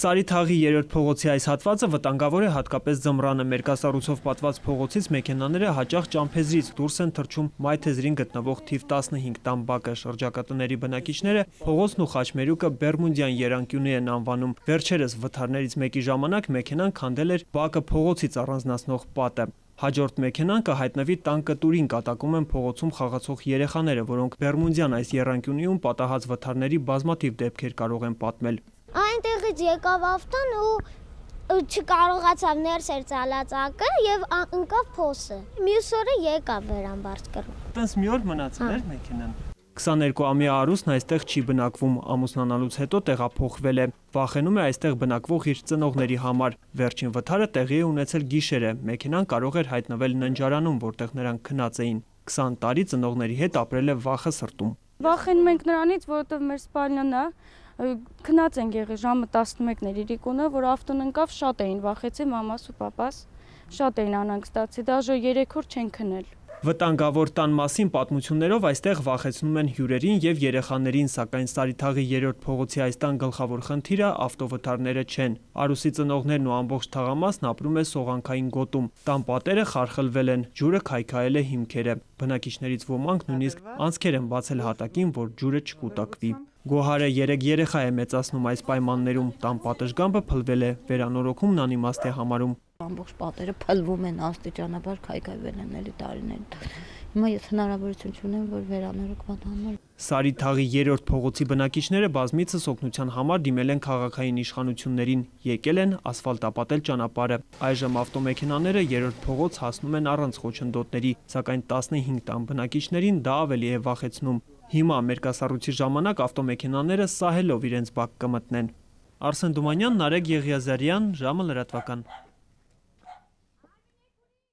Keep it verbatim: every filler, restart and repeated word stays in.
Սարիթաղի երրորդ փողոցի այս հատվածը վտանգավոր է հատկապես ձմռանը։ Մերկասառույցով պատված փողոցից մեքենաները հաճախ ճամփեզրից դուրս են թռչում մայթեզրին գտնվող թիվ տասնհինգ տան բակը։ Շրջակա տների բնակիչները փողոցն ու խաչմերուկը Բերմունդյան եռանկյունի են անվանում։ Վերջերս վթարներից մեկի ժամանակ մեքենան քանդել էր բակը փողոցից առանձնացնող պատը։ Հաջորդ մեքենան կհայտնվի տան կտուրին, կատակում են փողոցում խաղացող երեխաները, որոնք Բերմունդյան այս եռանկյունիում պատահած վթարների բազմաթիվ դեպքեր կարող են պատմել։ Այնտեղից եկավ ավտոն ու չկարողացավ ներս էր ծալածակը եւ ընկավ փոսը։ Մյուս օրը եկավ վերամբարձ կռու։ Տենց մի օր մնացել էր մեքենան։ քսաներկու-ամյա Արուսն այստեղ չի բնակվում, ամուսնանալուց հետո տեղափոխվել է։ Վախենում է այստեղ բնակվող իր ծնողների համար։ Վերջին վթարը տեղի է ունեցել գիշերը։ Մեքենան կարող էր հայտնվել ննջարանում, որտեղ նրանք քնած էին։ քսան տարի ծնողների հետ ապրել է վախը սրտում։ Վախենում ենք նրանից, որովհետև մեր սպալնյանն է, քնած ենք եղել ժամը տասնմեկն էր իրիկունը, որ ավտոն ընկավ, շատ էին վախեցել մամաս ու պապաս, շատ էին անհանգստացել, դաժե երեք օր չեն քնել։ Վտանգավոր տան մասին պատմություններով այստեղ վախեցնում են հյուրերին եւ երեխաներին, սակայն Սարիթաղի երրորդ փողոցի այս տան գլխավոր խնդիրը ավտովթարները չեն։ Արուսի ծնողներն ու ամբողջ թաղամասն ապրում է սողանքային գոտում։ Տան պատերը խարխլվել են, ջուրը քայքայել է հիմքերը։ Բնակիչներից ոմանք նույնիսկ անցքեր են բացել հատակին, որ ջուրը չկուտակվի։ Գոհարը երեք երեխա է մեծացնում այս պայմաններում, տան պատշգամբը փլվել է, վերանորոգումն անիմաստ է համարում։ Ամբողջ պատերը փլվում են, աստիճանաբար քայքայվել են էլի տարիներ։ Հիմա ես հնարավորություն չունեմ, որ վերանորոգման համար։ Սարիթաղի երրորդ փողոցի բնակիչները բազմիցս օգնության համար դիմել են քաղաքային իշխանություններին, եկել են ասֆալտապատել ճանապարհը։ Այժմ ավտոմեքենաները երրորդ փողոց հասնում են առանց խոչընդոտների, սակայն տասնհինգ տան բնակիչներին դա ավելի է վախեցնում։ Հիմա մերկասառույցի ժամանակ ավտոմեքենաները սահելով իրենց բակ կմտնեն։ Արսեն Դումանյան, Նարեկ Եղիազարյան, ժամը լրատվական։